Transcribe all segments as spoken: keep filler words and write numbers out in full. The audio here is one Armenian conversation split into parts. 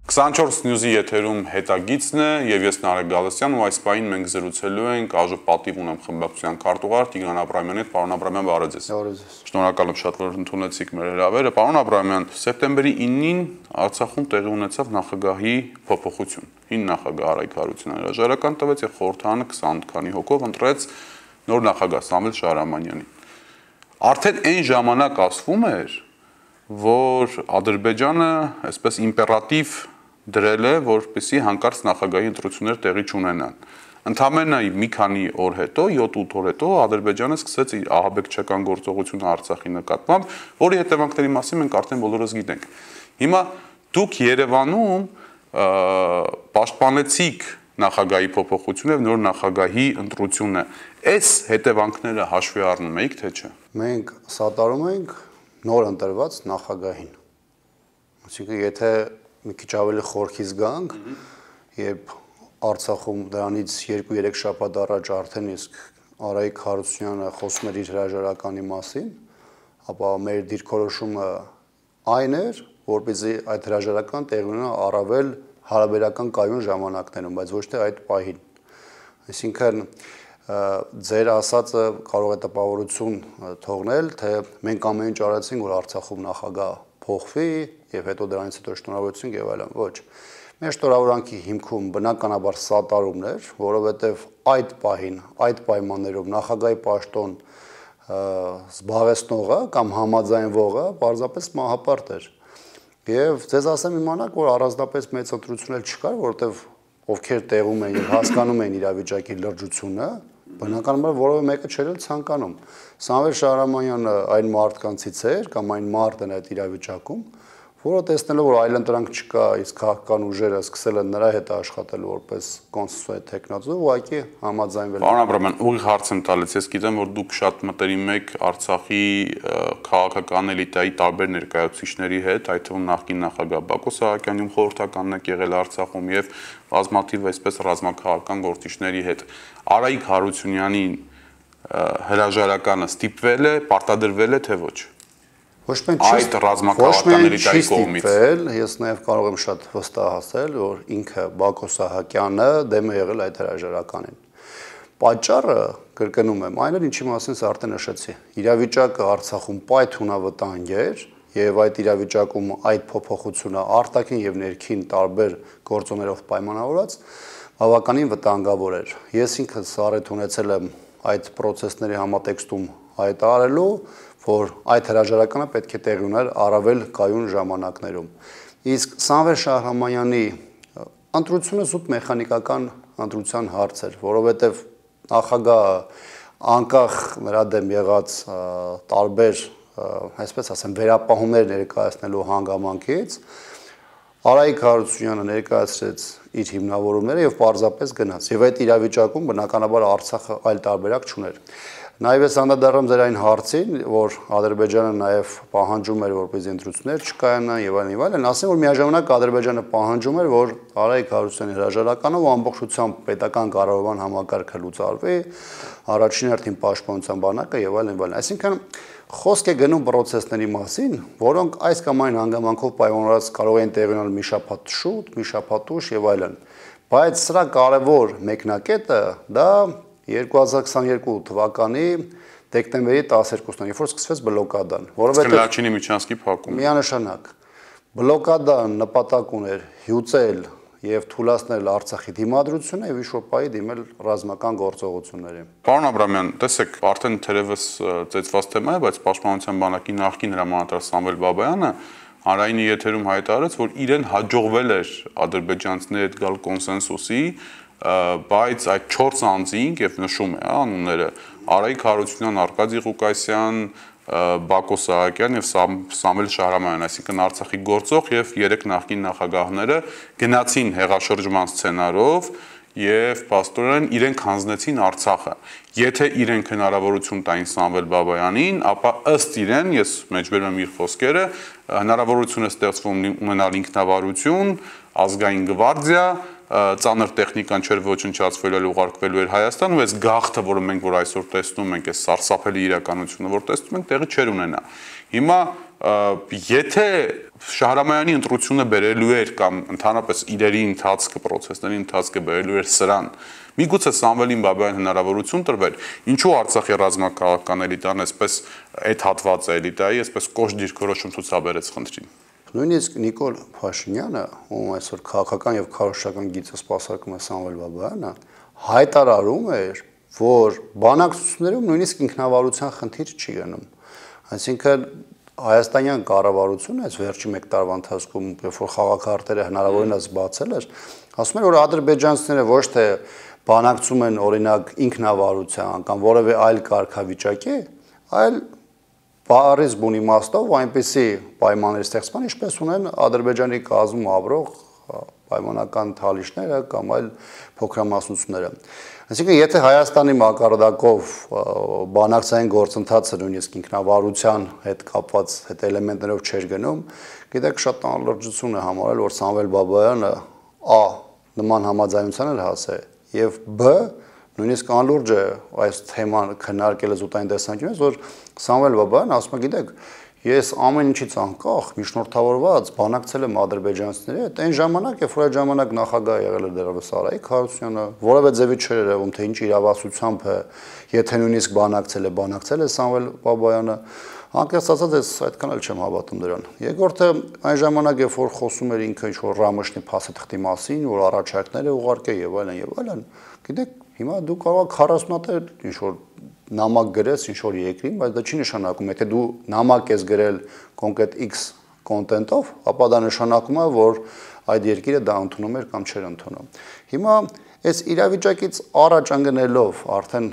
քսանչորս News-ի եթերում հետագիծն է եւ ես Նարեկ Գալստյան ու այս պահին մենք զրուցելու ենք ԱԺ պատիվ ունեմ խմբակցության քարտուղար Տիգրան Աբրահամյանի հետ։ Պարոն Աբրահամյան, բարև ձեզ։ Շնորհակալ եմ շատ, որ ընդունեցիք մեր հրավերը։ Պարոն Աբրահամյան, սեպտեմբերի իննին Արցախում տեղի ունեցավ նախագահի փոփոխություն։ Հին նախագահ Արայք Հարությունյանը հրաժարական տվեց եւ խորհրդարանը քսան քանի հոգով ընտրեց նոր նախագահ Սամվել Շահրամանյանին։ Արդեն այն ժամանակ ասվում էր, որ Ադրբեջանը այսպես իմպերատիվ դրել է, որպեսզի հանկարծ նախագահի ընտրություններ տեղի չունենան։ Ընդամենը մի քանի օր հետո, յոթ-ութ օր հետո Ադրբեջանը սկսեց իր ահաբեկչական գործողությունը Արցախի նկատմամբ, որի հետևանքների մասին մենք արդեն բոլորս գիտենք։ Հիմա դուք Երևանում պաշտպանեցիք նախագահի փոփոխությունը եւ նոր նախագահի ընտրությունը։ Այս հետևանքները հաշվի առնում եք, թե չէ։ Մենք սատարում ենք նոր ընտրված նախագահին։ Այսինքն, եթե մի քիչ ավելի խորքից գանք, երբ Արցախում դրանից երկու-երեք շաբաթ առաջ արդեն իսկ Արայք Հարությունյանը խոսում էր իր հրաժարականի մասին, ապա մեր դիրքորոշումը այն էր, որպեսզի այդ հրաժարական տեղի ունենա առավել հարաբերական կայուն ժամանակներում, բայց ոչ թե այդ պահին։ Այսինքն, ձեր ասածը կարող է տպավորություն թողնել, թե մենք ամեն ինչ արեցինք, որ Արցախում նախագահ փոխվի եւ հետո դրանից հետո շնորհավորություն եւ այլն։ Ոչ։ Մեր շնորհավորանքի հիմքում բնականաբար սատարումն էր, որովհետեւ այդ պահին, այդ պայմաններով նախագահի պաշտոն զբաղեցնողը կամ համաձայնվողը պարզապես մահապարտ էր։ Եվ ձեզ ասեմ իմանաք, որ առանձնապես մեծ ընտրություն էլ չկար, որովհետեւ ովքեր տեղում են եւ հասկանում են իրավիճակի լրջությունը, բնականաբար որևէ մեկը չէր ցանկանում։ Սամվել Շահրամանյանը այն մարդկանցից էր կամ այն մարդն այդ իրավիճակում, որը տեսնելով որ այլընտրանք չկա, իսկ քաղաքական ուժերը սկսել են նրա հետ աշխատել որպես կոնսենսուալ տեխնոզը, ուղղակի համաձայնվել։ Պարոն Աբրահամյան, ուղիղ հարց եմ տալիս, ես գիտեմ, որ դուք շատ մտերիմ եք Արցախի քաղաքական էլիտայի տարբեր ներկայացուցիչների հետ, այդ թվում նախկին նախագահ Բակո Սահակյանին խորհրդականն եք եղել Արցախում եւ բազմաթիվ այսպես ռազմաքաղաքական գործիչների հետ։ Արայք Հարությունյանին հրաժարականը ստիպվել է, պարտադրվել է, թե ոչ։ Ոչ մենք այդ ռազմաքաղաքական էլիտայի կողմից։ Ես նաև կարող եմ շատ վստահ ասել, որ ինքը Բակո Սահակյանը դեմ է եղել այդ հրաժարականին։ Պատճառը, կրկնում եմ, այն էր, ինչի մասին ես արդեն նշեցի։ Իրավիճակը Արցախում պայթունավտանգ էր, եւ այդ իրավիճակում այդ փոփոխությունը արտաքին եւ ներքին տարբեր գործոններով պայմանավորված բավականին վտանգավոր էր։ Ես ինքս առիթ ունեցել եմ այդ process-ների համատեքստում հայտարարելու, որ այդ հրաժարականը պետք է տեղի ուներ առավել կայուն ժամանակներում։ Իսկ Սամվել Շահրամանյանի ընտրությունը զուտ մեխանիկական ընտրության հարց էր, որովհետև նախագահը անկախ նրա դեմ եղած տարբեր, այսպես ասեմ, վերապահումներ ներկայացնելու հանգամանքից Արայք Հարությունյանը ներկայացրեց իր հիմնավորումները եւ պարզապես գնաց։ Եվ այդ իրավիճակում բնականաբար Արցախը այլ տարբերակ չուներ։ Նաև ես անդրադառնում ձեր այն հարցին, որ Ադրբեջանը նաև պահանջում էր, որպեսզի ընտրություններ չկայանան եւ այլն եւ այլն, ասեմ, որ միաժամանակ Ադրբեջանը պահանջում էր, որ Արայք Հարությունյանի հրաժարականը ու ամբողջությամբ պետական կառավարման համակարգը լուծարվի, առաջին հերթին պաշտպանության բանակը եւ այլն եւ այլն։ Այսինքն խոսք է գնում process-ների մասին, որոնք այս կամ այն հանգամանքով պայմանավորված կարող են տեղի ունենալ մի շաբաթ շուտ, մի շաբաթ ուշ եւ այլն։ Բայց սրա կարևոր մեկնակետը դա երկու հազար քսաներկու թվականի դեկտեմբերի տասներկուսն, երբ որ սկսվեց բլոկադան, որովհետեւ Լաչինի միջանցքի փակումը։ Միանշանակ բլոկադան նպատակ ուներ հյուծել եւ թույլատնել Արցախի դիմադրությունը եւ ինչ-որ պահի դիմել ռազմական գործողությունների։ Պարոն Աբրահամյան, տեսեք, արդեն թերևս ծեծված թեմա է, բայց Պաշտպանության բանակի նախկին հրամանատար Սամվել Բաբայանը Հանրայինի եթերում հայտարարեց, որ իրեն հաջողվել էր ադրբեջանցիների հետ գալ կոնսենսուսի, բայց այդ չորս անձինք եւ նշում է անունները Արայք Հարությունյան, Արկադի Ղուկասյան, Բակո Սահակյան եւ Սամվել Շահրամանյան, այսինքն Արցախի գործող եւ երեք նախկին նախագահները գնացին հեղաշրջման սցենարով եւ պաստորեն իրենք հանձնեցին Արցախը։ Եթե իրենք հնարավորություն տային Սամվել Բաբայանին, ապա ըստ իրեն, ես մեջբերում եմ իր խոսքերը, հնարավորություն է ստեղծվում ունենալ ինքնավարություն, ազգային գվարդիա, ծանր տեխնիկան չէր ոչնչացվել, այլ ուղարկվելու էր Հայաստան, ու այս գաղթը, որը մենք որ այսօր տեսնում ենք, այս սարսափելի իրականությունը, որ տեսնում ենք, տեղի չէր ունենա։ Հիմա եթե Շահրամյանի ընտրությունը բերելու էր կամ ընդհանրապես իրերի ընթացքը, process-ների ընթացքը բերելու էր սրան, միգուցե Սամվելին Բաբայան հնարավորություն տրվեր, ինչու Արցախի ռազմաքաղաքական էլիտան այսպես այդ հատվածը էլիտայի, այսպես կոշտ դիրքորոշում ցուցաբերեց խնդրին։ Նույնիսկ Նիկոլ Փաշինյանը, ում այսօր քաղաքական եւ քարոզչական գիծը սպասարկում է Սամվել Բաբայանը, հայտարարում էր, որ բանակցություններում նույնիսկ ինքնավարության խնդիր չի գնում։ Այսինքն հայաստանյան կառավարությունը այս վերջի մեկ տարվա ընթացքում, երբ որ խաղաքարտերը հնարավորինս բացել էր, ասում էր, որ ադրբեջանցիները ոչ թե բանակցում են օրինակ ինքնավարության կամ որևէ այլ կարգավիճակի, այլ բառից բուն իմաստով այնպիսի պայմաններ ստեղծման, ինչպես ունեն Ադրբեջանի կազմում ապրող պայմանական թալիչները կամ այլ փոքրամասնությունները։ Այսինքն, եթե Հայաստանի մակարդակով բանակցային գործընթացը նույնիսկ ինքնավարության հետ կապված այդ էլեմենտներով չէր գնում, գիտեք, շատ անլրջություն է համարել, որ Սամվել Բաբայանը ա նման համաձայնության էլ հասե, եւ բ նույնիսկ անլուրջ է այս թեման քննարկելը զուտային տեսանկյունից, որ Սամվել Բաբայան ասում է, գիտեք, ես ամեն ինչից անկախ միջնորդավորված բանակցել եմ ադրբեջանցիների հետ, այն ժամանակ, երբ որ այդ ժամանակ նախագահ եղել էր դեռևս Արայիկ Հարությունյանը, որևէ ձևի չէր երևում, թե ինչ իրավասությամբ է, եթե նույնիսկ բանակցել է, բանակցել է Սամվել Բաբայանը, անկեղծ ասած, ես այդքան էլ չեմ հավատում դրան։ Երկրորդը, այն ժամանակ, երբ որ խոսում էր ինքը ինչ-որ Ռամշնի փաստաթղթի մասին, որ առաջարկներ է ուղարկել եւ այլն եւ այլն, գիտեք, հիմա դու կարող ես քառասունութ ինչ-որ նամակ գրես ինչ-որ երկրին, բայց դա չի նշանակում, եթե դու նամակ ես գրել կոնկրետ X կոնտենտով, ապա դա նշանակում է, որ այդ երկիրը դա ընդունում էր կամ չէր ընդունում։ Հիմա այս իրավիճակից առաջ ընկնելով արդեն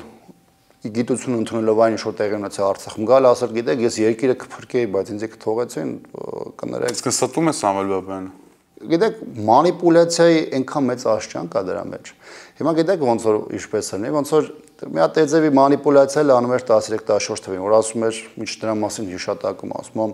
գիտություն ընդունելով այն ինչ որ տեղի ունեցավ Արցախում, գալ ասել, գիտեք, ես երկիրը կփրկեի, բայց ինձ կթողեցին, կներեք։ Իսկ ստում է Սամվել Բաբայանը։ Գիտեք, մանիպուլյացիայի այնքան մեծ աշճան կա դրա մեջ։ Հիմա գիտեք ոնց որ ինչպես է, ոնց որ մի հատ էձևի մանիպուլյացիա անում էր տասներեք տասնչորս թվին, որ ասում էր, ինչ դրա մասին հիշատակում, ասում եմ,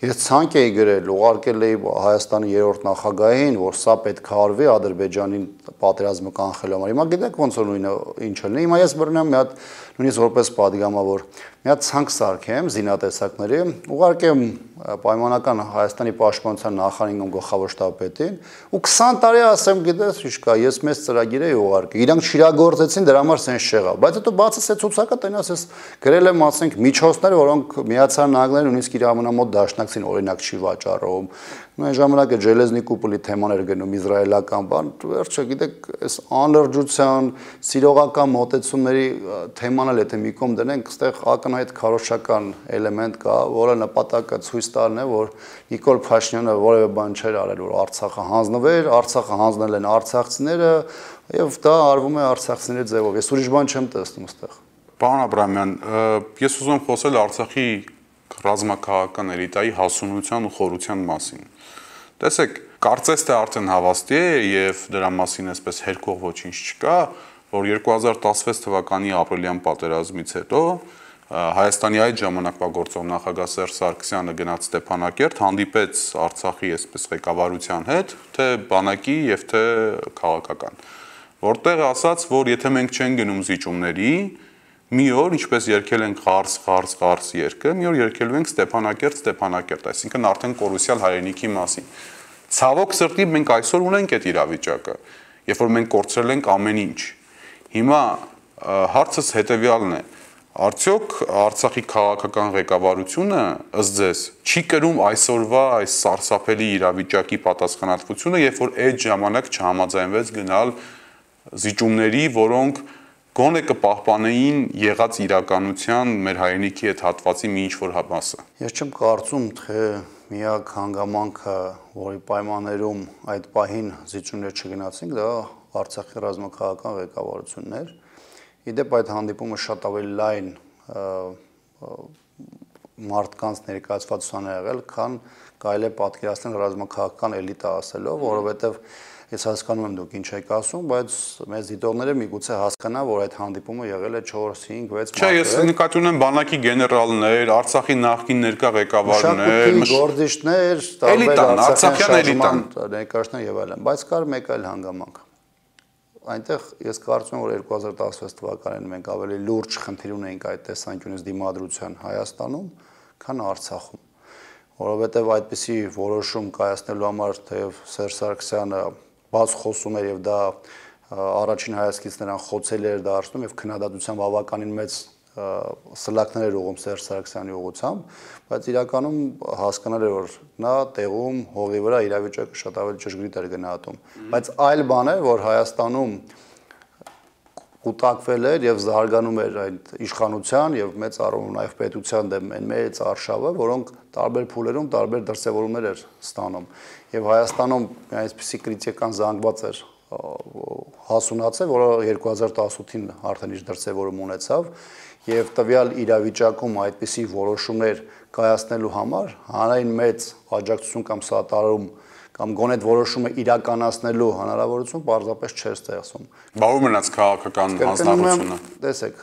ես ցանկ էի գրել, ուղարկել էի Հայաստանի երրորդ նախագահին, որ սա պետք է արվի Ադրբեջանին պատերազմը կանխելու համար։ Հիմա գիտեք ոնց որ նույնը ինչ է լինի, հիմա ես բռնեմ մի հատ նույնիսկ որպես падգամավոր մի հատ ցանկ սարքեմ զինատեսակների, ուղարկեմ պայմանական Հայաստանի պաշտպանության նախարարին գլխավոր շտաբպետին ու քսան տարի ասեմ, գիտես, ինչ կա, ես մեծ ծրագիր էի ուղարկել։ Իրանք շիրագործեցին, դրա համար սենց չեղավ։ Բայց հետո բացես այդ ցուցակը տենաս ես գրել եմ, ասենք, միջոցներ, որոնք Միացյալ Նահանգները նույնիսկ իր ամենամոտ դաշնակցին օրինակ չի վաճառում։ Այն ժամանակը Ժելեզնի կուպոլի թեման էր գնում իսրայելական բան, վերջը գիտեք, այս անլրջության, սիրողական մոտեցումների թեման էլ եթե մի կողմ դնենք, այստեղ ակնհայտ քարոզչական էլեմենտ կա, որը նպատակը ցույց տալն է, որ Նիկոլ Փաշինյանը որևէ բան չէր արել, որ Արցախը հանձնվեր, Արցախը հանձնել են արցախցիները, եւ դա արվում է արցախցիների ձևով։ Ես ուրիշ բան չեմ տեսնում այստեղ։ Պարոն Աբրամյան, ես ուզում եմ խոսել Արցախի ռազմաքաղաքական էլիտայի հասունության ու խորության մասին։ Տեսեք, կարծես թե արդեն հավաստի է եւ դրա մասին այսպես հերքող ոչինչ չկա, որ երկու հազար տասնվեց թվականի ապրիլյան պատերազմից հետո Հայաստանի այդ ժամանակվա գործող նախագահ Սերժ Սարգսյանը գնաց Ստեփանակերտ, հանդիպեց Արցախի այսպես ղեկավարության հետ, թե բանակի եւ թե քաղաքական, որտեղ ասաց, որ եթե մենք չենք գնում զիջումների, մի օր, ինչպես երգել ենք Ղարս, Ղարս, Ղարս երգը, մի օր երգելու ենք Ստեփանակերտ, Ստեփանակերտ, այսինքն արդեն կորուսյալ հայրենիքի մասին։ Ցավոք սրտի մենք այսօր ունենք այդ իրավիճակը, երբ որ մենք կորցրել ենք ամեն ինչ։ Հիմա հարցս հետեւյալն է. արդյոք Արցախի քաղաքական ղեկավարությունը ըստ ձեզ չի կրում այսօրվա այս սարսափելի իրավիճակի պատասխանատվությունը, երբ որ այդ ժամանակ չհամաձայնվեց գնալ զիջումների, որոնք գոնե կպահպանեին եղած իրականության մեր հայրենիքի այդ հատվածի մի ինչ-որ մասը։ Ես չեմ կարծում, թե միակ հանգամանքը, որի պայմաններում այդ պահին զիջումներ չգնացինք, դա Արցախի ռազմաքաղաքական ղեկավարությունն էր։ Իդեպ այդ հանդիպումը շատ ավելի լայն մարդկանց ներկայացվածության է եղել, քան կարելի է պատկերացնել ռազմաքաղաքական էլիտա ասելով, որովհետև ես հասկանում եմ դուք ինչ եք ասում, բայց մեծ դիտողները միգուցե հասկանան, որ այդ հանդիպումը եղել է չորս, հինգ, վեց մարդու։ Չէ, ես նկատի ունեմ բանակի գեներալներ, Արցախի նախկին ներկա ղեկավարներ, գործիչներ, տարբեր արցախյան էլիտան ներկայացներ եւ այլն, բայց կար մեկ այլ հանգամանք։ Այնտեղ ես կարծում եմ, որ երկու հազար տասնվեց թվականին մենք ավելի լուրջ խնդիր ունեինք այդ տեսանկյունից դիմադրության Հայաստանում, քան Արցախում։ որովհետև այդպիսի որոշում կայացնելու համար թեև Սերժ Սարգսյանը բաց խոսում էր եւ դա առաջին հայացքից նրան խոցել էր դարձնում եւ քննադատության բավականին մեծ սլակներ էր ուղում Սերժ Սարգսյանի ուղղությամբ, բայց իրականում հասկանալ էր, որ նա տեղում հողի վրա իրավիճակը շատ ավելի ճշգրիտ էր գնահատում, բայց այլ բան է, որ Հայաստանում կուտակվել էր եւ զարգանում էր այդ իշխանության եւ մեծ առումով նաեւ պետության դեմ այն մեծ արշավը, որոնք տարբեր փուլերում տարբեր դրսեւորումներ էր ստանում եւ Հայաստանում այսպիսի կրիտիկան զանգված էր հասունացել, որը երկու հազար տասութին արդեն իր դրսևորում ունեցավ եւ տվյալ իրավիճակում այդպիսի որոշումներ կայացնելու համար հանրային մեծ աջակցություն կամ սատարում կամ գոնե այդ որոշումը իրականացնելու հնարավորություն պարզապես չէր ստեղծում։ Բա ու մնաց քաղաքական հանձնառությունը։ Տեսեք,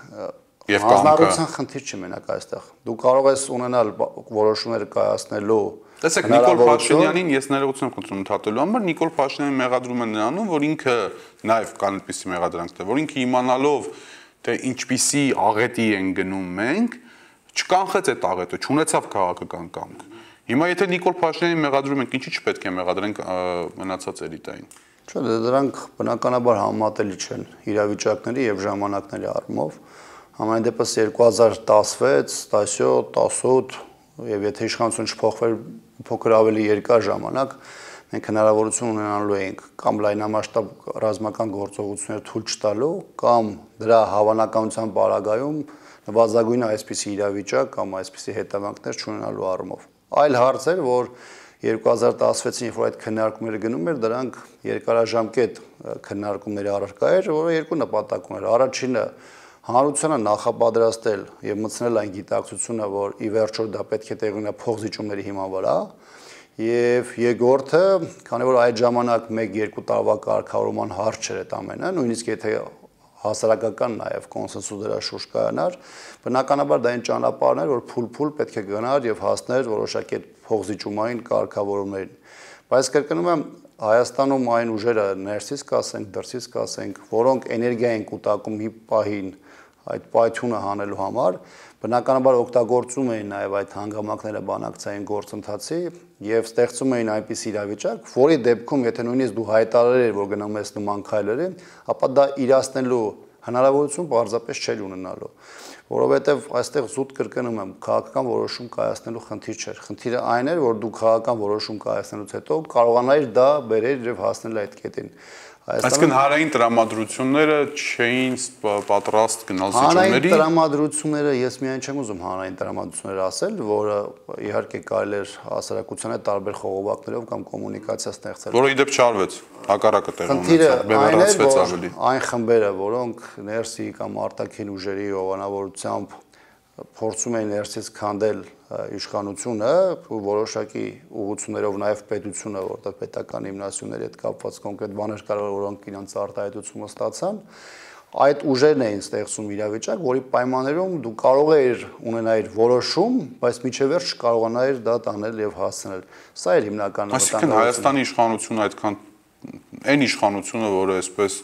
հանձնառության խնդիր չի մենակ այստեղ։ Դու կարող ես ունենալ որոշումներ կայացնելու Տեսեք, Նիկոլ Փաշինյանին ես ներողություն եմ խնդրում ընդհատելու համար, Նիկոլ Փաշինյանին մեղադրում են նրանում, որ ինքը նաև կան այդպիսի մեղադրանք, որ ինքը իմանալով թե ինչպիսի աղետի են գնում մենք, չկանխեց այդ աղետը, չունեցավ քաղաքական կամք։ Հիմա եթե Նիկոլ Փաշինյանին մեղադրում ենք, ինչի՞ չպետք է մեղադրենք մնացած էլիտային։ Չէ, դրանք բնականաբար համատելի չեն իրավիճակների եւ ժամանակների առումով։ Համայն դեպս երկու հազար տասնվեց, տասնյոթ, տասնութ եւ եթե իշխանությունը չփոխվեր փոքր ավելի երկար ժամանակ, մենք հնարավորություն ունենալու էինք կամ լայնամասշտաբ ռազմական գործողություններ թույլ չտալու կամ դրա հավանականության պարագայում նվազագույն այսպիսի իրավիճակ կամ այսպիսի հետևանքներ չունենալու առումով։ Այլ հարց էր, որ երկու հազար տասնվեցին, երբ որ այդ քննարկումները գնում էր, դրանք երկարաժամկետ քննարկումների առարկա էր, որը երկու նպատակ ուներ։ Առաջինը հանրությանը նախապատրաստել եւ մտցնել այն գիտակցությունը, որ ի վերջո դա պետք է տեղի ունենա փոխզիջումների հիման վրա, եւ երկրորդը, քանի որ այդ ժամանակ մեկ երկու տարվա կարգավորման հարց չէր այդ ամենը, նույնիսկ եթե հասարակական նաեւ կոնսենսուս դրա շուրջ կայանար, բնականաբար դա այն ճանապարհն էր, որ փուլ-փուլ պետք է գնար եւ հասներ որոշակի այդ փոխզիջումային կարգավորումներին։ Բայց կրկնում եմ, Հայաստանում այն ուժերը ներսից կասենք, դրսից կասենք, որոնք էներգիա են կուտակում մի պահին այդ պայթյունը հանելու համար, բնականաբար օգտագործում էին նաև այդ հանգամանքները բանակցային գործընթացի եւ ստեղծում էին այնպիսի իրավիճակ, որի դեպքում եթե նույնիսկ դու հայտարարեր, որ գնում ես նման քայլերի, ապա դա իրացնելու հնարավորություն պարզապես չէր ունենալու, որովհետեւ այստեղ զուտ կրկնում եմ, քաղաքական որոշում կայացնելու խնդիր չէր։ Խնդիրը այն էր, որ դու քաղաքական որոշում կայացնելուց հետո կարողանայիր դա բերել եւ հասնել այդ կետին։ Այսինքն հարային տրամադրությունները չէին պատրաստ գնալ զիջումների։ Հանրային տրամադրությունները, ես միայն չեմ ուզում հանրային տրամադրություններ ասել, որը իհարկե կարելի էր հասարակությանը տարբեր խողովակներով կամ կոմունիկացիա ստեղծել։ Որը իդեպ չարվեց, հակառակը տեղի ունեցավ, բևեռացվեց ավելի։ Այն խմբերը, որոնք ներսի կամ արտաքին ուժերի հովանավորությամբ փորձում էին ներսից քանդել իշխանությունը, որոշակի ուղղություններով նաև պետությունը, որտեղ պետական հիմնասյուների հետ կապված կոնկրետ բաներ կարող որոնք իրենց արտահայտությունը ստացան, այդ ուժերն էին ստեղծում իրավիճակ, որի պայմաններում դու կարող էիր ունենալ որոշում, բայց միջև վերջ չկարողանայիր դա տանել եւ հասցնել։ Սա էր հիմնական Այսինքն Հայաստանի իշխանությունը այդքան այն իշխանությունը, որը այսպես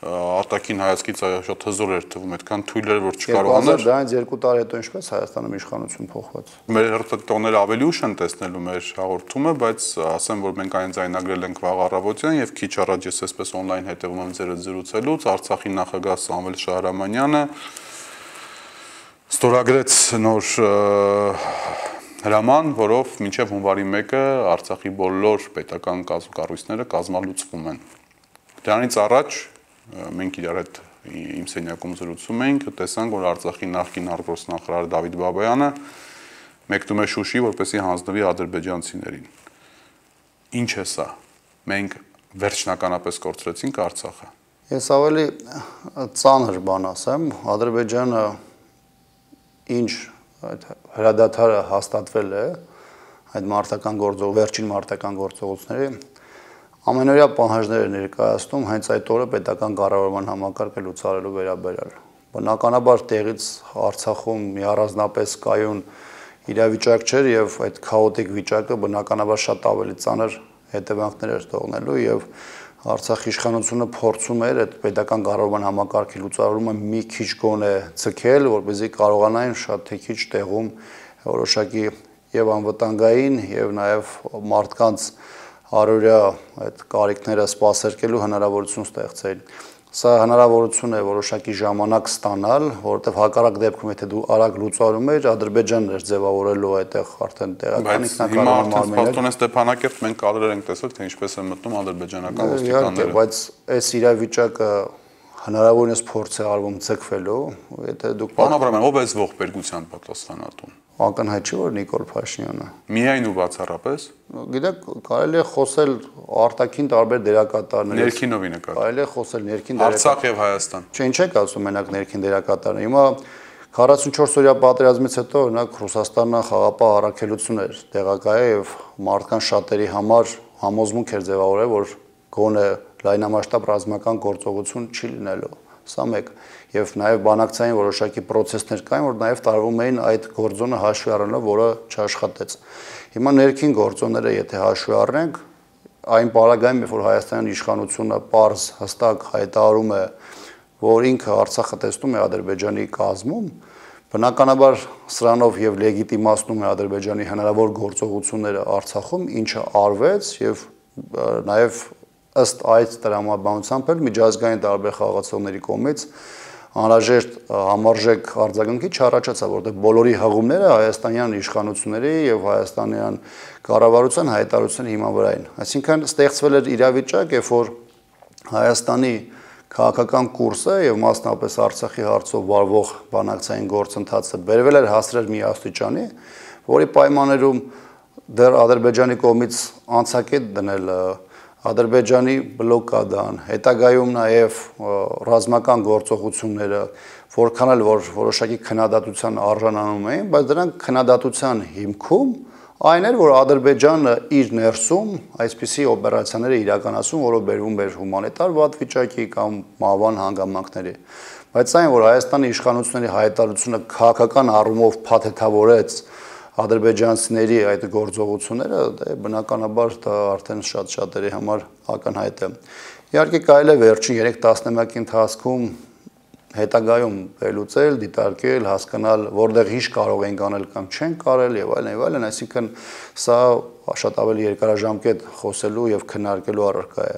արտաքին հայացքից շատ հզոր էր թվում, այդքան թույլ էր, որ չկարողանար։ Դրանից երկու տարի հետո ինչպես Հայաստանում իշխանություն փոխվեց։ Մեր հերթատոները ավելի ուշ են տեսնելու մեր հաղորդումը, բայց ասեմ, որ մենք այն ձայնագրել ենք վաղ առավոտյան եւ քիչ առաջ ես այսպես on-line հետևում եմ ձեր զրուցելուց, Արցախի նախագահ Սամվել Շահրամանյանը ստորագրեց նոր հրաման, որով մինչև հունվարի մեկը Արցախի բոլոր պետական կառույցները կազմալուծվում են։ Դրանից առաջ մենք իրար հետ իմ սենյակում զրուցում էինք, տեսանք, որ Արցախի նախկին արտգործնախարար Դավիթ Բաբայանը մեկնում է Շուշի, որպեսզի հանձնվի ադրբեջանցիներին։ Ինչ է սա։ Մենք վերջնականապես կորցրեցինք Արցախը։ Ես ավելի ծանր բան ասեմ, Ադրբեջանը ինչ այդ հրադադարը հաստատվել է այդ մարտական գործող վերջին մարտական գործողությունների ամենօրյա պահանջներ ներկայացնում հենց այդ օրը պետական կառավարման համակարգը լուծարելու վերաբերյալ։ Բնականաբար տեղից Արցախում մի առանձնապես կայուն իրավիճակ չէր եւ այդ քաոտիկ վիճակը բնականաբար շատ ավելի ծանր հետևանքներ էր թողնելու եւ Արցախի իշխանությունը փորձում էր այդ պետական կառավարման համակարգի լուծարումը մի քիչ գոնե ցկել, որպեսզի կարողանային շատ թե քիչ տեղում որոշակի եւ անվտանգային եւ նաեւ մարդկանց հարյուրյա այդ կարիքները սպասարկելու հնարավորություն ստեղծել։ Սա հնարավորություն է որոշակի ժամանակ ստանալ, որովհետեւ հակառակ դեպքում եթե դու արագ լուծարում ես, Ադրբեջանն էր ձևավորելու այդտեղ արդեն տեղական ինքնակառավարման մարմիններ։ Բայց հիմա Ստեփանակերտ մենք կադրեր ենք տեսել, թե ինչպես են մտնում ադրբեջանական ոստիկանները։ Բայց այս իրավիճակը հնարավորինս փորձ է արվում ցկվելու, եթե դուք Պարոն Աբրամյան, ով է այս ողբերգության պատասխանատուն։ Ակնհայտ չէ որ Նիկոլ Փաշինյանը։ Միայն ու բացառապես։ Գիտեք, կարելի է խոսել արտաքին տարբեր դերակատարների։ Ներքինովի նկատմամբ։ Կարելի է խոսել ներքին դերակատարների։ Արցախ եւ Հայաստան։ Չէ, ինչ եք ասում մենակ ներքին դերակատարները։ Հիմա քառասունչորս օրյա պատերազմից հետո օրինակ Ռուսաստանը խաղապահ առաքելություն էր տեղակայել եւ մարդկան շատերի համար համոզմունք էր ձևավորել, որ գոնե լայնամասշտաբ ռազմական գործողություն չի լինելու։ Սա մեկ եւ նաեւ բանակցային որոշակի process-ներ կային, որ նաեւ տարվում էին այդ գործոնը հաշվի առնելով, որը չաշխատեց։ Հիմա ներքին գործոնները եթե հաշվի առնենք, այն պարագայում, երբ որ Հայաստանի իշխանությունը պարզ հստակ հայտարարում է, որ ինքը Արցախը տեսնում է Ադրբեջանի կազմում, բնականաբար սրանով եւ լեգիտիմացնում է Ադրբեջանի հնարավոր գործողությունները Արցախում, ինչը արվեց եւ նաեւ ըստ այդ տրամաբանությամբ էլ միջազգային տարբեր խաղացողների կողմից անհրաժեշտ համարժեք արձագանքի չառաջացավ, որտեղ բոլորի հղումները հայաստանյան իշխանությունների եւ հայաստանյան կառավարության հայտարարության հիման վրա են։ Այսինքն ստեղծվել էր իրավիճակ, երբ որ Հայաստանի քաղաքական կուրսը եւ մասնապես Արցախի հարցով վարվող բանակցային գործընթացը բերվել էր հասրել մի աստիճանի, որի պայմաններում դեռ Ադրբեջանի կողմից անցակետ դնել Ադրբեջանի բլոկադան, հետագայում նաև ռազմական գործողությունները, որքան էլ որ որոշակի քննադատության արժանանում էին, բայց դրանք քննադատության հիմքում այն էր, որ Ադրբեջանը իր ներսում այսպիսի օպերացիաներ է իրականացում, որով բերվում էր հումանիտար վատ վիճակի կամ մահվան հանգամանքների։ Բայց այն, որ Հայաստանի իշխանությունների հայտարարությունը քաղաքական առումով փաթեթավորեց ադրբեջանցիների այդ գործողությունները, դե բնականաբար դա արդեն շատ շատերի համար ակնհայտ է։ Իհարկե կարելի է վերջին երեք տասնամյակի ընթացքում հետագայում վերլուծել, դիտարկել, հասկանալ, որտեղ ինչ կարող են անել կամ չեն կարել եւ այլն եւ այլն, այսինքն սա շատ ավելի երկարաժամկետ խոսելու եւ քննարկելու առարկա է։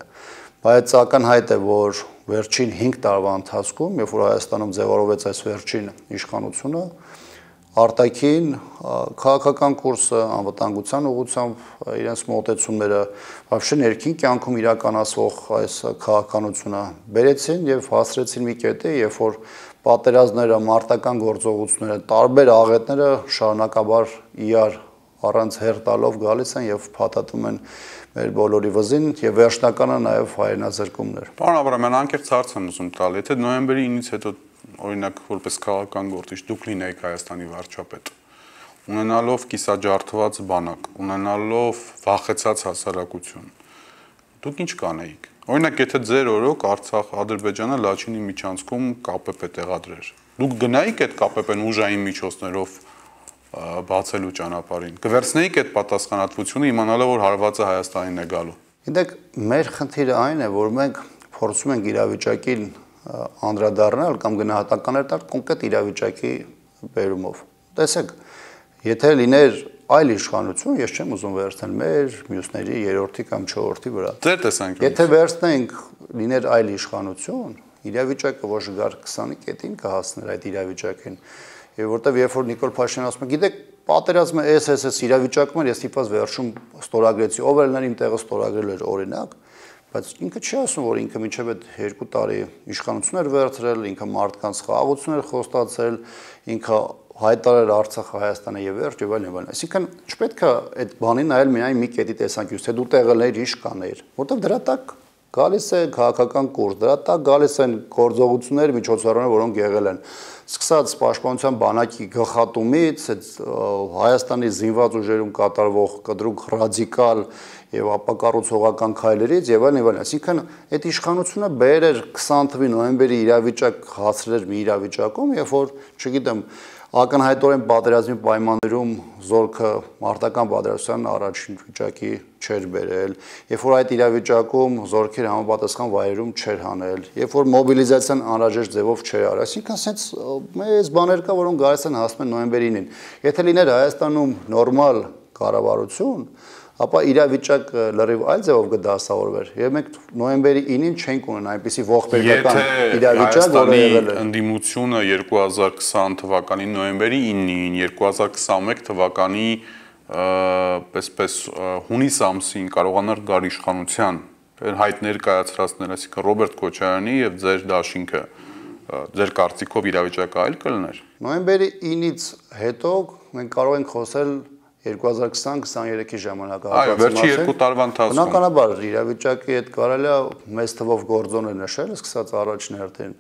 Բայց ակնհայտ է, որ վերջին հինգ տարվա ընթացքում, երբ որ Հայաստանում ձևավորվեց այս վերջին իշխանությունը, արտաքին քաղաքական կուրսը, անվտանգության ուղղությամբ իրենց մոտեցումները, вообще ներքին կյանքում իրականացվող այս քաղաքականությունը բերեցին եւ հասրեցին մի կետի, երբ որ պատերազմները, մարտական գործողությունները, տարբեր աղետները շարունակաբար իրար առանց հեր տալով գալիս են եւ փաթաթում են մեր բոլորի վզին եւ վերջնականը նաեւ հայրենազրկումներ։ Պարոն Աբրամյան, անկեղծ հարց եմ ուզում տալ, եթե նոյեմբերի ինից հետո օրինակ որպես քաղաքական գործիչ դուք լինեիք Հայաստանի վարչապետ, ունենալով կիսաջարդված բանակ, ունենալով վախեցած հասարակություն, դուք ինչ կանեիք։ Օրինակ, եթե ձեր օրոք Արցախ, Ադրբեջանը Լաչինի միջանցքում ԿՊՊ տեղադրեր, դուք գնայիք այդ ԿՊՊ-ն ուժային միջոցներով բացելու ճանապարհին, կվերցնեիք այդ պատասխանատվությունը, իմանալով որ հարվածը Հայաստանին է գալու։ Գիտեք, մեր խնդիրը այն է, որ մենք փորձում ենք իրավիճակին անդրադառնալ կամ գնահատականներ տալ կոնկրետ իրավիճակի բերումով։ Տեսեք, եթե լիներ այլ իշխանություն, ես չեմ ուզում վերցնել մեր, մյուսների, երրորդի կամ չորրորդի վրա։ Ձեր տեսանկյունից։ Եթե վերցնենք լիներ այլ իշխանություն, իրավիճակը ոչ գար քսանի կետին կհասներ այդ իրավիճակին։ Եվ որտեվ երբ որ Նիկոլ Փաշինյանը ասում է, գիտեք, պատերազմը էս էս էս իրավիճակում էր, ես իբաց վերջում ստորագրեցի, ով էր նրան իմ տեղը ստորագրել էր օրինակ, բայց ինքը չի ասում, որ ինքը մինչև այդ երկու տարի իշխանություն էր վերցրել, ինքը մարդկանց խաղաղություն էր խոստացել, ինքը հայտարարել Արցախը Հայաստանը եւ վերջ եւ այլն եւ այլն։ Այսինքն չպետք է այդ բանին նայել միայն մի կետի տեսանկյունից, թե դու տեղը լեր ինչ կանեիր, որտեղ դրա տակ գալիս է քաղաքական կուրս, դրա տակ գալիս են գործողություններ, միջոցառումներ, որոնք եղել են։ Սկսած պաշտպանության բանակի գլխատումից, Հայաստանի զինված ուժերում կատարվող կտրուկ ռադիկալ եւ ապակառուցողական քայլերից եւ այլն եւ այլն։ Այսինքն այդ իշխանությունը բերեր քսան թվականի նոյեմբերի իրավիճակ հասրել մի իրավիճակում, երբ որ, չգիտեմ, ակնհայտորեն պատերազմի պայմաններում զորքը մարտական պատերազմության առաջին վիճակի չէր բերել, երբ որ այդ իրավիճակում զորքեր համապատասխան վայրերում չէր հանել, երբ որ մոբիլիզացիան անհրաժեշտ ձևով չէր արել, այսինքն ասենց մեծ բաներ կա, որոնք գալիս են հասնում են նոյեմբերին։ Եթե լիներ Հայաստանում նորմալ կառավարություն, ապա իրավիճակը լրիվ այլ ձևով կդասավորվեր։ Եվ մենք նոյեմբերի ինին չենք ունենա այնպիսի ողբերգական իրավիճակ, որը եղել է։ Ընդդիմությունը երկու հազար քսան թվականի նոյեմբերի ինին, երկու հազար քսանմեկ թվականի պես-պես հունիս ամսին կարողանար գալ իշխանության, հայտներ կայացրածներ, այսինքն Ռոբերտ Քոչարյանի եւ ձեր դաշինքը, ձեր կարծիքով իրավիճակը այլ կլներ։ Նոյեմբերի ինից հետո մենք կարող ենք խոսել երկու հազար քսան քսաներեքի ժամանակահատվածի մասին։ Այո, վերջի երկու տարվա ընթացքում։ Բնականաբար իրավիճակի հետ կարելի է մեծ թվով գործոներ նշել, սկսած առաջին հերթին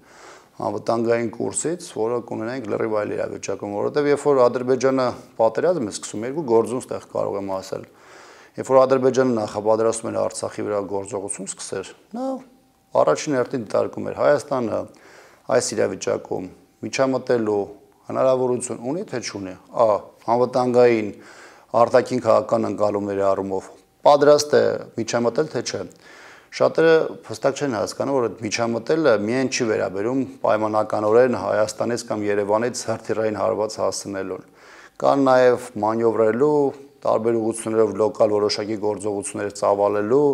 անվտանգային կուրսից, որը կունենանք լրիվ այլ իրավիճակում, որովհետև երբ որ Ադրբեջանը պատերազմ է սկսում, երկու գործոն ստեղ կարող եմ ասել։ Երբ որ Ադրբեջանը նախապատրաստում էր Արցախի վրա գործողություն սկսեր, նա առաջին հերթին դիտարկում էր Հայաստանը այս իրավիճակում միջամտելու հնարավորություն ունի թե չունի։ Ա. Անվտանգային արտաքին քաղաքական ընկալումների առումով պատրաստ է միջամտել թե չէ։ Շատերը հստակ չեն հասկանում, որ միջամտելը միայն չի վերաբերում պայմանականորեն Հայաստանից կամ Երևանից հրթիռային հարված հասցնելուն։ Կան նաև մանևրելու, տարբեր ուղղություններով լոկալ որոշակի գործողություններ ծավալելու,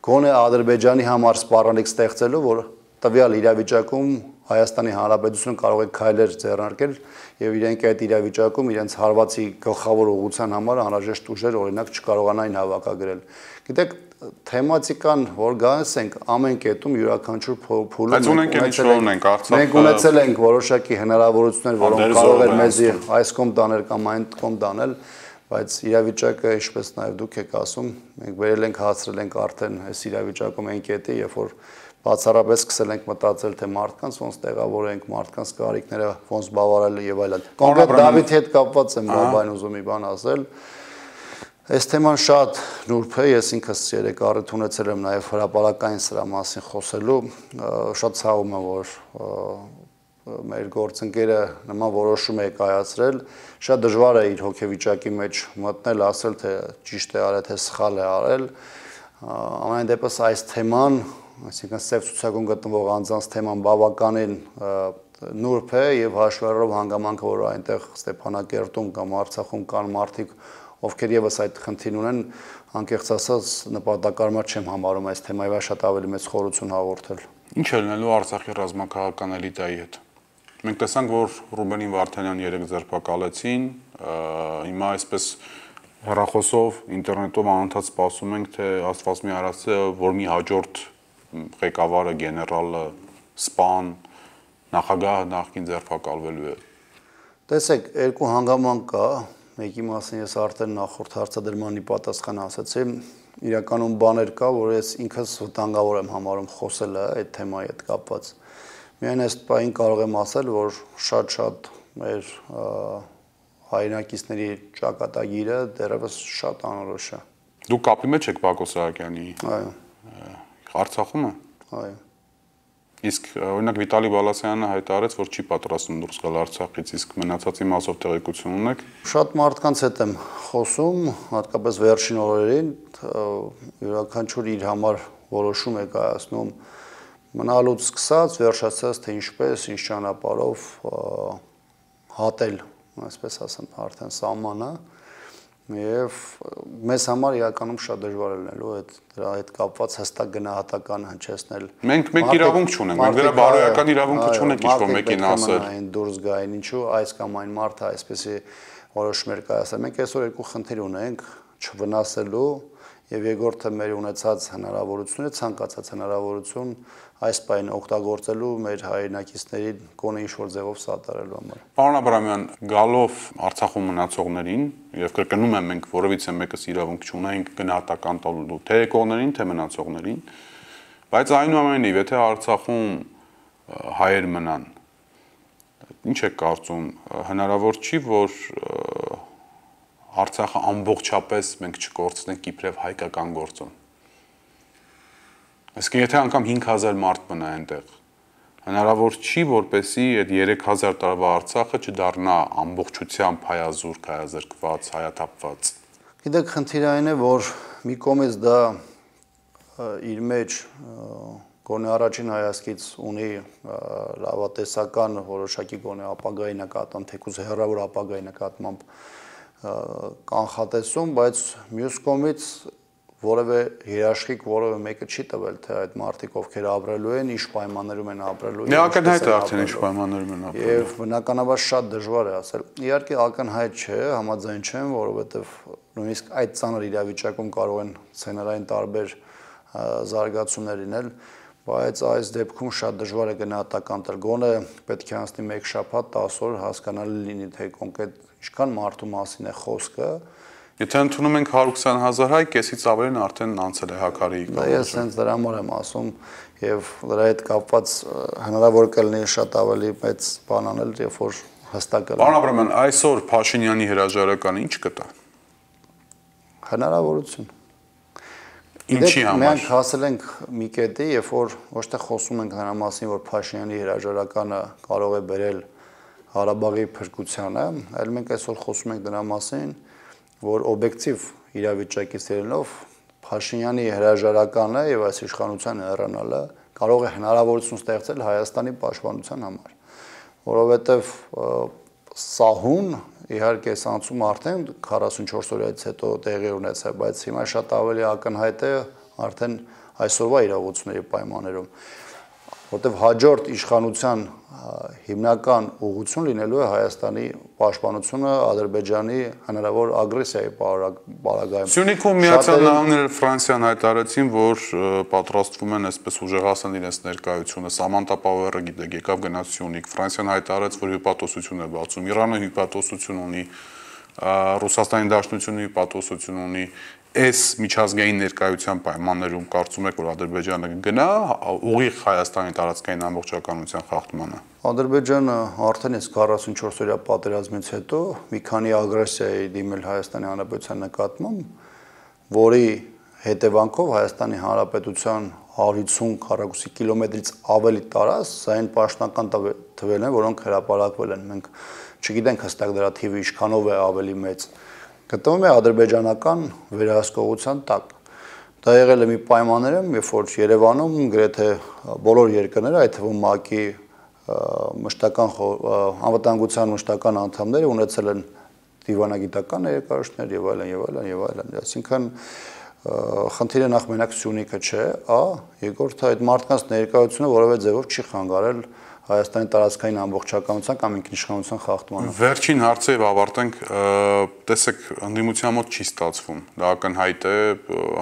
գոնե Ադրբեջանի համար սպառնալիք ստեղծելու, որ տվյալ իրավիճակում Հայաստանի Հանրապետությունը կարող է քայլեր ձեռնարկել եւ իրենք այդ իրավիճակում իրենց հարվածի գլխավոր ուղղության համար անհրաժեշտ ուժեր օրինակ չկարողանային հավաքագրել։ Գիտեք, թեմատիկան, որ գալիս ենք ամեն կետում յուրաքանչյուր փուլում մենք ունեցել ենք որոշակի հնարավորություններ, որոնք կարող էր մեզի այս կողմ տանել կամ այն կողմ տանել, բայց իրավիճակը, ինչպես նաև դուք եք ասում, մենք վերել ենք հասցրել ենք արդեն այս իրավիճակում այն կետի, երբ որ բացառապես սկսել ենք մտածել, թե մարդկանց ոնց տեղավորենք, մարդկանց կարիքները ոնց բավարարել եւ այլն։ Կոնկրետ Դավիթի հետ կապված եմ բան ուզում մի բան ասել։ Այս թեման շատ նուրբ է, ես ինքս երեք առիթ ունեցել եմ նաև հրապարակային սրա մասին խոսելու, շատ ցավում եմ, որ մեր գործընկերը նման որոշում է կայացրել, շատ դժվար է իր հոգեվիճակի մեջ մտնել, ասել, թե ճիշտ է արել, թե սխալ է արել։ Ամեն դեպս այս թեման, այսինքն սև ցուցակում գտնվող անձանց թեման բավականին նուրբ է եւ հաշվառելով հանգամանքը, որ այնտեղ Ստեփանակերտում կամ Արցախում կան մարդիկ, ովքեր եւս այդ խնդիրն ունեն, անկեղծ ասած նպատակարար չեմ համարում այս թեմայի վրա շատ ավելի մեծ խորություն հաղորդել։ Ինչ է լինելու Արցախի ռազմաքաղաքական էլիտայի հետ։ Մենք տեսանք, որ Ռուբենին Վարդանյան երեք ձերբակալեցին, հիմա այսպես հեռախոսով, ինտերնետով անընդհատ սպասում ենք, թե Աստված մի արածը, որ մի հաջորդ ղեկավարը, գեներալը, սպան, նախագահը նախքին ձերբակալվելու է։ Տեսեք, երկու հանգամանք կա, մեկի մասին ես արդեն նախորդ հարցադրմանի պատասխան ասացի, իրականում բաներ կա, որ ես ինքս վտանգավոր եմ համարում խոսելը այդ թեմայի հետ կապված։ Միայն այս պահին կարող եմ ասել, որ շատ-շատ մեր հայրենակիցների ճակատագիրը դեռևս շատ անորոշ է։ Դուք կապի մեջ եք Բակո Սահակյանի։ Այո։ Արցախումը։ Այո։ Իսկ օրինակ Վիտալի Բալասյանը հայտարարեց, որ չի պատրաստվում դուրս գալ Արցախից, իսկ մնացածի մասով տեղեկություն ունեք։ Շատ մարդկանց հետ եմ խոսում, հատկապես վերջին օրերին, յուրաքանչյուր իր համար որոշում է կայացնում մնալուց սկսած, վերջացած, թե ինչպես, ինչ ճանապարհով հատել, այսպես ասեմ, արդեն սահմանը, եւ մեզ համար իրականում շատ դժվար է լինելու այդ դրա հետ կապված հստակ գնահատական հնչեցնել։ Մենք մենք իրավունք չունենք, մենք դրա բարոյական իրավունքը չունենք ինչ-որ մեկին ասել։ Այն դուրս գային, ինչու այս կամ այն մարդը այսպեսի որոշումներ կայացել։ Մենք այսօր երկու խնդիր ունենք՝ չվնասելու եւ երկրորդը մեր ունեցած հնարավորությունը, ցանկացած հնարավորություն այս պայն օգտագործելու մեր հայրենակիցների գոնե ինչ-որ ձևով սատարելու համար։ Պարոն Աբրամյան, գալով Արցախում մնացողներին եւ կրկնում եմ, մենք որևիցե մեկս իրավունք չունենք գնահատական տալու թե եկողներին, թե մնացողներին, բայց այնուամենայնիվ, եթե Արցախում հայեր մնան, ինչ եք կարծում, հնարավոր չի, որ Արցախը ամբողջապես մենք չկորցնենք իբրև հայկական գործոն։ Այսինքն եթե անգամ հինգ հազար մարդ մնա այնտեղ, հնարավոր չի, որպեսզի այդ երեք հազար տարվա Արցախը չդառնա ամբողջությամբ հայազուրկ, հայազրկված, հայաթափված։ Գիտեք, խնդիրը այն է, որ մի կողմից դա իր մեջ գոնե առաջին հայացքից ունի լավատեսական որոշակի գոնե ապագայի նկատմամբ, թեկուզ հեռավոր ապագայի նկատմամբ կանխատեսում, բայց մյուս կողմից որևէ երաշխիք որևէ մեկը չի տվել, թե այդ մարդիկ ովքեր ապրելու են, ինչ պայմաններում են ապրելու։ Դե ակնհայտ է արդեն ինչ պայմաններում են ապրելու։ Եվ բնականաբար շատ դժվար է ասել։ Իհարկե ակնհայտ չէ, համաձայն չեմ, որովհետև նույնիսկ այդ ծանր իրավիճակում կարող են սցենարային տարբեր զարգացումներ լինել, բայց այս դեպքում շատ դժվար է գնահատական տալ։ Գոնե պետք է անցնի մեկ շաբաթ, տասը օր հասկանալի լինի, թե կոնկրետ ինչքան մարդու մասին է խոսքը։ Եթե ընդունում ենք հարյուր քսան հազար հայ, կեսից ավելին արդեն անցել է հակարի կողմը։ Ես հենց դրա համար եմ ասում, եւ դրա հետ կապված հնարավոր կլինի շատ ավելի մեծ բան անել, երբ որ հստակ կլինի։ Պարոն Աբրամյան, այսօր Փաշինյանի հրաժարականը ինչ կտա։ Հնարավորություն։ Ինչի համար։ Մենք հասել ենք մի կետի, երբ որ ոչ թե խոսում ենք նրա մասին, որ Փաշինյանի հրաժարականը կարող է բերել Ղարաբաղի փրկությանը, այլ մենք այսօր խոսում ենք դրա մասին, որ օբյեկտիվ իրավիճակից ելնելով Փաշինյանի հրաժարականը եւ այս իշխանության հեռանալը կարող է հնարավորություն ստեղծել Հայաստանի պաշտպանության համար, որովհետեւ սահուն իհարկե սանցում արդեն քառասունչորս օրից հետո տեղի ունեցավ, բայց հիմա շատ ավելի ակնհայտ է արդեն այսօրվա իրողությունների պայմաններում, որտեղ հաջորդ իշխանության հիմնական ուղղություն լինելու է Հայաստանի պաշտպանությունը Ադրբեջանի հնարավոր ագրեսիայի պարագայում։ Սյունիքում Միացյալ Նահանգները Ֆրանսիան հայտարարեցին, որ պատրաստվում են այսպես ուժեղացնել իրենց ներկայությունը։ Սամանտա Պաուերը գիտեք, եկավ գնաց Սյունիք։ Ֆրանսիան հայտարարեց, որ հյուպատոսություն է բացում։ Իրանը հյուպատոսություն ունի, Ռուսաստանի Դաշնությունը հյուպատոսություն ունի։ Այս միջազգային ներկայության պայմաններում կարծում եք, որ Ադրբեջանը կգնա ուղիղ Հայաստանի տարածքային ամբողջականության խախտմանը։ Ադրբեջանը արդեն իսկ քառասունչորս օրյա պատերազմից հետո մի քանի ագրեսիայի դիմել Հայաստանի Հանրապետության նկատմամբ, որի հետևանքով Հայաստանի Հանրապետության հարյուր քառակուսի կիլոմետրից ավելի տարած այն պաշտոնական թվերն են, որոնք հրապարակվել են։ Մենք չգիտենք հստակ դրա թիվը ինչքանով է ավելի մեծ։ Գտնվում է ադրբեջանական վերահսկողության տակ։ Դա եղել է մի պայմաններում, երբ որ Երևանում գրեթե բոլոր երկրները, այդ թվում ՄԱԿ-ի մշտական անվտանգության մշտական անդամները ունեցել են դիվանագիտական ներկայացումներ եւ այլն եւ այլն եւ այլն։ Այսինքն խնդիրը նախ մենակ Սյունիքը չէ, ա երկրորդը այդ մարդկանց ներկայությունը որևէ ձևով չի խանգարել Հայաստանի տարածքային ամբողջականության կամ ինքնիշխանության խախտմանը։ Վերջին հարցը եւ ավարտենք, տեսեք, ընդդիմության մոտ չի ստացվում։ Դա ակնհայտ է,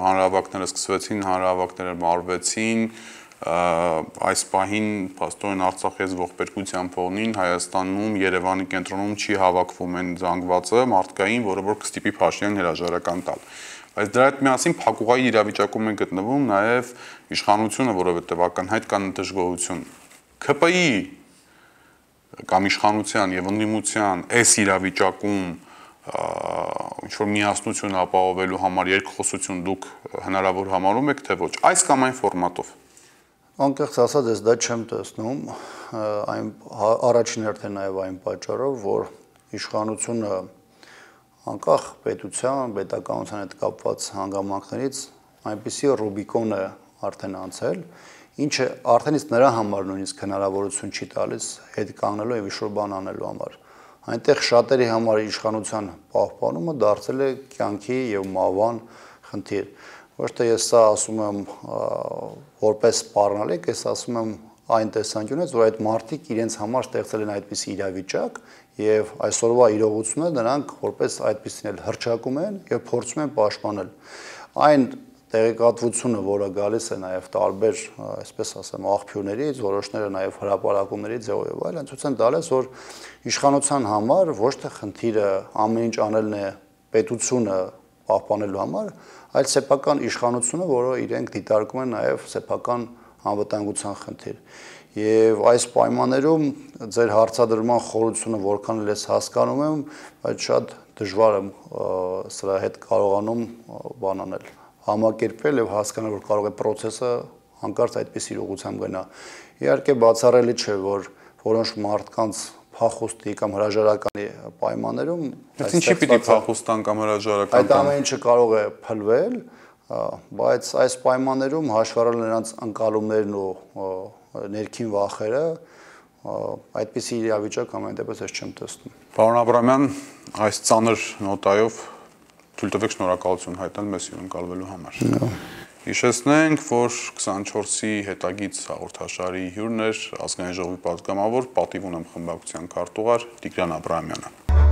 հանրահավաքները սկսվեցին, հանրահավաքները մարվեցին, այս պահին փաստորեն Արցախի ողբերգության ֆոնին Հայաստանում Երևանի կենտրոնում չի հավաքվում այն զանգվածը մարդկային, որը որ կստիպի Փաշինյանին հրաժարական տալ։ Բայց դրա հետ միասին փակուղայի իրավիճակում են գտնվում նաեւ իշխանությունը, որովհետեւ ակնհայտ կան դժգոհություն։ ՔՊԻ կամ իշխանության եւ ընդդիմության այս իրավիճակում ինչ որ միասնություն ապահովելու համար երկխոսություն դուք հնարավոր համարում եք թե ոչ այս կամ այն ֆորմատով։ Անկեղծ ասած, ես դա չեմ տեսնում, այն առաջին հերթին նաեւ այն պատճառով, որ իշխանությունը անկախ պետության, պետականության հետ կապված հանգամանքներից այնպիսի Ռուբիկոն է արդեն անցել, ինչը արդեն իսկ նրա համար նույնիսկ հնարավորություն չի տալիս հետ կանգնելու եւ ինչ-որ բան անելու համար։ Այնտեղ շատերի համար իշխանության պահպանումը դարձել է կյանքի եւ մահվան խնդիր։ Ոչ թե ես սա ասում եմ որպես սպառնալիք, ես ասում եմ այն տեսանկյունից, որ այդ մարդիկ իրենց համար ստեղծել են այդպիսի իրավիճակ եւ այսօրվա իրողությունը նրանք որպես այդպիսին էլ հրճակում են եւ փորձում են պաշտպանել։ Այն տեղեկատվությունը, որը գալիս է նաև տարբեր, այսպես ասեմ, աղբյուրներից, որոշները նաև հրապարակումների ձևով եւ այլն, ցույց են տալիս, որ իշխանության համար ոչ թե խնդիրը ամեն ինչ անելն է պետությունը պահպանելու համար, այլ սեփական իշխանությունը, որը իրենք դիտարկում են նաև սեփական անվտանգության խնդիր։ Եվ այս պայմաններում ձեր հարցադրման խորությունը որքան էլ ես հասկանում եմ, բայց շատ դժվար եմ սրա հետ կարողանում բան անել, համակերպել եւ հասկանալ, որ կարող է process-ը հանկարծ այդպիսի ուղղությամբ գնա։ Իհարկե բացառելի չէ, որ որոշ մարդկանց փախուստի կամ հրաժարականի պայմաններում Բայց ինչի պիտի փախուստան կամ հրաժարական այդ ամեն ինչը կարող է փլվել, բայց այս պայմաններում հաշվառել նրանց ընկալումներն ու ներքին վախերը, այդպիսի իրավիճակ ամեն դեպս ես չեմ տեսնում։ Պարոն Աբրամյան, այս ծանր նոտայով թույլ տվեք շնորհակալություն հայտնել մեզ հյուրընկալվելու համար։ Հիշեցնենք, որ քսանչորսի հետագից հաղորդաշարի հյուրն էր ազգային ժողովի պատգամավոր, պատիվ ունեմ խմբակցության քարտուղար Տիգրան Աբրահամյանը։